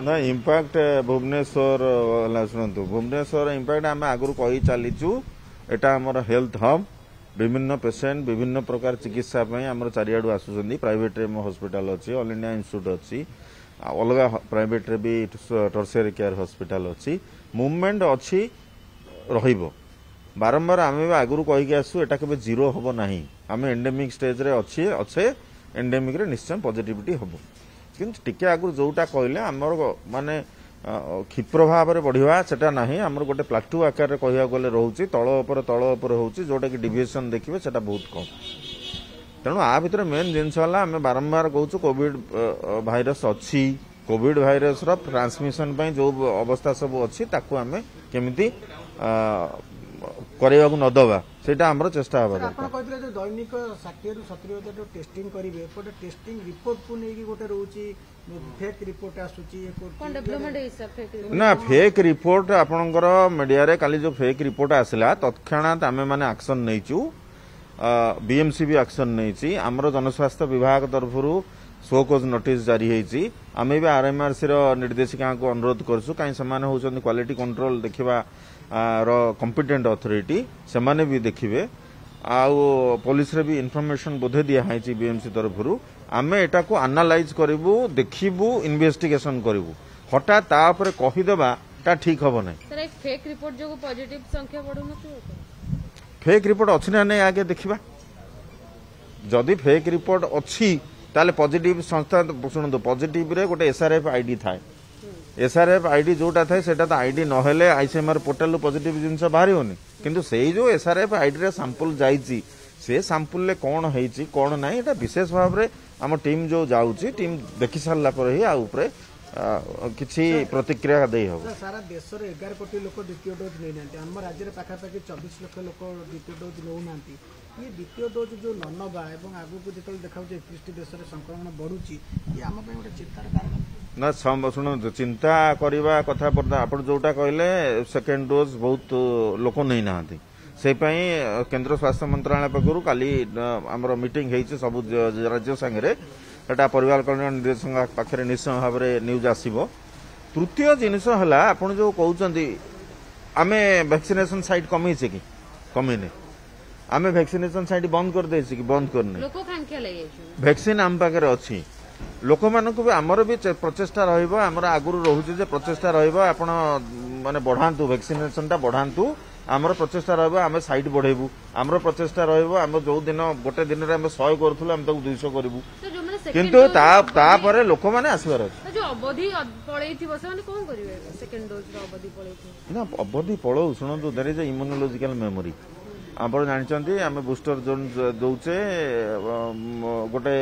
ନା, ଇମ୍ପାକ୍ଟ ଭୁବନେଶ୍ୱର ହେଲା, ଶୁଣନ୍ତୁ, ଭୁବନେଶ୍ୱର ଇମ୍ପାକ୍ଟ ଆମେ ଆଗରୁ କହି ଚାଲିଛୁ। ଏଟା ଆମର ହେଲ୍ଥ ହବ୍। ବିଭିନ୍ନ ପେସେଣ୍ଟ ବିଭିନ୍ନ ପ୍ରକାର ଚିକିତ୍ସା ପାଇଁ ଆମର ଚାରିଆଡୁ ଆସୁଛନ୍ତି। ପ୍ରାଇଭେଟରେ ମୋ ହସ୍ପିଟାଲ ଅଛି, ଅଲ୍ ଇଣ୍ଡିଆ ଇନଷ୍ଟିଚ୍ୟୁଟ୍ ଅଛି, ଆଉ ଅଲଗା ପ୍ରାଇଭେଟରେ ବି ଟର୍ସିଆରୀ କେୟାର ହସ୍ପିଟାଲ ଅଛି। ମୁଭମେଣ୍ଟ ଅଛି, ରହିବ। ବାରମ୍ବାର ଆମେ ବି ଆଗରୁ କହିକି ଆସୁ, ଏଟା କେବେ ଜିରୋ ହବ ନାହିଁ। ଆମେ ଏଣ୍ଡେମିକ୍ ଷ୍ଟେଜରେ ଅଛେ, ଏଣ୍ଡେମିକ୍ରେ ନିଶ୍ଚୟ ପଜିଟିଭିଟି ହବ। କିନ୍ତୁ ଟିକେ ଆଗରୁ ଯୋଉଟା କହିଲେ, ଆମର ମାନେ କ୍ଷିପ୍ର ଭାବରେ ବଢିବା ସେଟା ନାହିଁ। ଆମର ଗୋଟେ ପ୍ଲାଟୁ ଆକାରରେ କହିବାକୁ ଗଲେ ରହୁଛି, ତଳ ଉପରେ ତଳ ଉପରେ ହେଉଛି, ଯୋଉଟାକି ଡିଭିଏସନ୍ ଦେଖିବେ ସେଟା ବହୁତ କମ୍। ତେଣୁ ଆ ଭିତରେ ମେନ୍ ଜିନିଷ ହେଲା, ଆମେ ବାରମ୍ବାର କହୁଛୁ କୋଭିଡ ଭାଇରସ ଅଛି। କୋଭିଡ ଭାଇରସର ଟ୍ରାନ୍ସମିଶନ ପାଇଁ ଯୋଉ ଅବସ୍ଥା ସବୁ ଅଛି, ତାକୁ ଆମେ କେମିତି କରିବାକୁ ନ ଦେବା, ସେଇଟା ଆମର ଚେଷ୍ଟା ହେବା ଦରକାର। ଆପଣ କହିଥିଲେ ଯେ ଦୈନିକ 60ରୁ 70 ହଜାର ଯୋଉ ଟେଷ୍ଟିଂ କରିବେ, ଏପଟେ ଟେଷ୍ଟିଂ ରିପୋର୍ଟକୁ ନେଇକି ଗୋଟେ ରହୁଛି, ଫେକ୍ ରିପୋର୍ଟ ଆସୁଛି। ନା, ଫେକ୍ ରିପୋର୍ଟ ଆପଣଙ୍କର ମିଡିଆରେ କାଲି ଯୋଉ ଫେକ୍ ରିପୋର୍ଟ ଆସିଲା, ତତ୍କ୍ଷଣାତ୍ ଆମେ ମାନେ ଆକ୍ସନ ନେଇଛୁ। ବିଏମସି ବି ଆକ୍ସନ ନେଇଛି। ଆମର ଜନସ୍ୱାସ୍ଥ୍ୟ ବିଭାଗ ତରଫରୁ ଶୋ କଜ୍ ନୋଟିସ୍ ଜାରି ହେଇଛି। ଆମେ ବି ଆରଏମଆରସି ର ନିର୍ଦ୍ଦେଶିକାଙ୍କୁ ଅନୁରୋଧ କରୁଛୁ, କାହିଁ ସେମାନେ ହେଉଛନ୍ତି କ୍ୱାଲିଟି କଣ୍ଟ୍ରୋଲ ଦେଖିବା ର କମ୍ପିଟେଣ୍ଟ ଅଥରିଟି, ସେମାନେ ବି ଦେଖିବେ। ଆଉ ପୋଲିସରେ ବି ଇନଫର୍ମେସନ ବୋଧେ ଦିଆହେଇଛି ବିଏମସି ତରଫରୁ। ଆମେ ଏଟାକୁ ଆନାଲାଇଜ କରିବୁ, ଦେଖିବୁ, ଇନଭେଷ୍ଟିଗେସନ କରିବୁ। ହଠାତ୍ ତା ଉପରେ କହିଦେବା ଟା ଠିକ ହବ ନାହିଁ। ଫେକ୍ ରିପୋର୍ଟ ଯୋଗୁଁ ପଜିଟିଭ ସଂଖ୍ୟା ବଢୁନଥିବ? ଫେକ୍ ରିପୋର୍ଟ ଅଛି ନା ନାଇଁ ଆଗେ ଦେଖିବା। ଯଦି ଫେକ୍ ରିପୋର୍ଟ ଅଛି ତାହେଲେ ପଜିଟିଭ ସଂସ୍ଥା, ଶୁଣନ୍ତୁ, ପଜିଟିଭରେ ଗୋଟେ ଏସ୍ଆରଏଫ୍ ଆଇଡି ଥାଏ। ଏସ୍ଆରଏଫ୍ ଆଇଡି ଯୋଉଟା ଥାଏ, ସେଟା ତ ଆଇଡି ନହେଲେ ଆଇସିଏମ୍ଆର ପୋର୍ଟାଲରୁ ପଜିଟିଭ ଜିନିଷ ବାହାରିବନି। କିନ୍ତୁ ସେଇ ଯୋଉ ଏସ୍ଆରଏଫ୍ ଆଇଡିରେ ସାମ୍ପୁଲ ଯାଇଛି, ସେ ସାମ୍ପୁଲରେ କ'ଣ ହେଇଛି କ'ଣ ନାହିଁ, ଏଟା ବିଶେଷ ଭାବରେ ଆମ ଟିମ୍ ଯୋଉ ଯାଉଛି, ଟିମ୍ ଦେଖି ସାରିଲା ପରେ ହିଁ ଆଉ ଉପରେ କିଛି ପ୍ରତିକ୍ରିୟା ଦେଇ ହେବ। ସାରା ଦେଶରେ 11 କୋଟି ଲୋକ ଦ୍ୱିତୀୟ ଡୋଜ୍ ନେଇନାହାନ୍ତି। ଆମ ରାଜ୍ୟରେ ପାଖାପାଖି 24 ଲକ୍ଷ ଲୋକ ଦ୍ୱିତୀୟ ଡୋଜ୍ ନେଉନାହାନ୍ତି। ଇଏ ଦ୍ୱିତୀୟ ଡୋଜ୍ ଯୋଉ ନ ନେବା ଏବଂ ଆଗକୁ ଯେତେବେଳେ ଦେଖାଯାଉଛି 31ଟି ଦେଶରେ ସଂକ୍ରମଣ ବଢୁଛି, ଇଏ ଆମ ପାଇଁ ଗୋଟେ ଚିନ୍ତାର କାରଣ ନା? ଶୁଣନ୍ତୁ, ଚିନ୍ତା କରିବା କଥା ଆପଣ ଯୋଉଟା କହିଲେ, ସେକେଣ୍ଡ ଡୋଜ୍ ବହୁତ ଲୋକ ନେଇନାହାନ୍ତି। ସେଇ ପାଇଁ କେନ୍ଦ୍ର ସ୍ୱାସ୍ଥ୍ୟ ମନ୍ତ୍ରଣାଳୟ ପକ୍ଷରୁ କାଲି ଆମର ମିଟିଂ ହେଇଛି ସବୁ ରାଜ୍ୟ ସାଙ୍ଗରେ। ସେଟା ପରିବାର କଲ୍ୟାଣ ନିର୍ଦ୍ଦେଶକଙ୍କ ପାଖରେ ନିଶ୍ଚୟ ଭାବରେ ନ୍ୟୁଜ୍ ଆସିବ। ତୃତୀୟ ଜିନିଷ ହେଲା, ଆପଣ ଯୋଉ କହୁଛନ୍ତି, ଆମେ ଭ୍ୟାକ୍ସିନେସନ ସାଇଟ୍ କମେଇଛେ କି? କମେଇନେ। ଆମେ ଭ୍ୟାକ୍ସିନେସନ ସାଇଟ୍ ବନ୍ଦ କରିଦେଇଛେ କି? ବନ୍ଦ କରିନେ। ଭ୍ୟାକ୍ସିନ ଆମ ପାଖରେ ଅଛି। ଲୋକମାନଙ୍କୁ ବି ଆମର ବି ପ୍ରଚେଷ୍ଟା ରହିବ, ଆମର ଆଗରୁ ରହୁଛି ଯେ ପ୍ରଚେଷ୍ଟା ରହିବ, ଆପଣ ମାନେ ବଢାନ୍ତୁ, ଭ୍ୟାକ୍ସିନେସନଟା ବଢାନ୍ତୁ। ଆମର ପ୍ରଚେଷ୍ଟା ରହିବ, ଆମେ ସାଇଟ୍ ବଢେଇବୁ। ଆମର ପ୍ରଚେଷ୍ଟା ରହିବ, ଆମେ ଯୋଉ ଦିନ ଗୋଟେ ଦିନରେ ଆମେ 100 କରୁଥିଲୁ, ଆମେ ତାକୁ 200 କରିବୁ। କିନ୍ତୁ ତାପରେ ଲୋକମାନେ ଆସିବାର ଅଛି। ଅବଧି ପଳେଇଥିବ, ସେମାନେ କଣ କରିବେ? ସେକେଣ୍ଡ ଡୋଜର ଅବଧି ପଳେଇଥିବ ନା? ଅବଧି ପଳଉ, ଶୁଣନ୍ତୁ, there is immunological memory. ଆପଣ ଜାଣିଛନ୍ତି, ଆମେ ବୁଷ୍ଟର ଜୋନ୍ ଦଉଛେ। ଗୋଟେ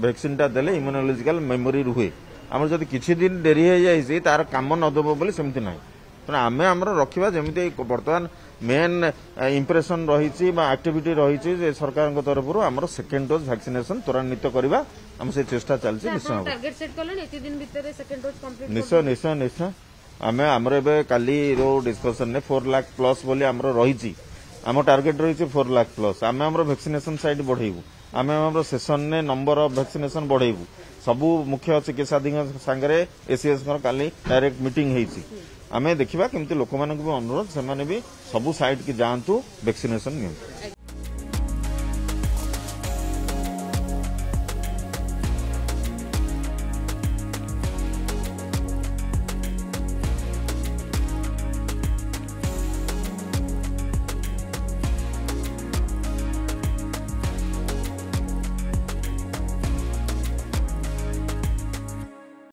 ଭ୍ୟାକ୍ସିନଟା ଦେଲେ ଇମ୍ୟୁନୋଲୋଜିକାଲ ମେମୋରି ରୁହେ। ଆମର ଯଦି କିଛି ଦିନ ଡେରି ହେଇଯାଇଛି, ତାର କାମ ନ ଦେବ ବୋଲି ସେମିତି ନାହିଁ। ତେଣୁ ଆମେ ଆମର ରଖିବା, ଯେମିତି ବର୍ତ୍ତମାନ ମେନ୍ ଇମ୍ପ୍ରେସନ ରହିଛି ବା ଆକ୍ଟିଭିଟି ରହିଛି ଯେ ସରକାରଙ୍କ ତରଫରୁ ଆମର ସେକେଣ୍ଡ ଡୋଜ୍ ଭ୍ୟାକ୍ସିନେସନ ତ୍ୱରାନ୍ୱିତ କରିବା, ଆମ ସେ ଚେଷ୍ଟା ଚାଲିଛି। ନିଶ୍ଚୟ, ନିଶ୍ଚୟ, ନିଶ୍ଚୟ, ନିଶ୍ଚୟ। ଆମେ ଆମର ଏବେ କାଲି ଯୋଉ ଡିସ୍କସନରେ 4 ଲାଖ ପ୍ଲସ୍ ବୋଲି ଆମର ରହିଛି, ଆମ ଟାର୍ଗେଟ ରହିଛି 4 ଲାଖ ପ୍ଲସ୍। ଆମେ ଆମର ଭ୍ୟାକ୍ସିନେସନ ସାଇଟ୍ ବଢେଇବୁ, ଆମେ ଆମର ସେସନରେ ନମ୍ବର ଅଫ୍ ଭ୍ୟାକ୍ସିନେସନ ବଢେଇବୁ। ସବୁ ମୁଖ୍ୟ ଚିକିତ୍ସାଧିକାରୀଙ୍କ ସାଙ୍ଗରେ ଏସିଏସ୍ଙ୍କର କାଲି ଡାଇରେକ୍ଟ ମିଟିଂ ହେଇଛି। ଆମେ ଦେଖିବା କେମିତି ଲୋକମାନଙ୍କୁ ବି ଅନୁରୋଧ, ସେମାନେ ବି ସବୁ ସାଇଟ୍କି ଯାଆନ୍ତୁ, ଭ୍ୟାକ୍ସିନେସନ ନିଅନ୍ତୁ।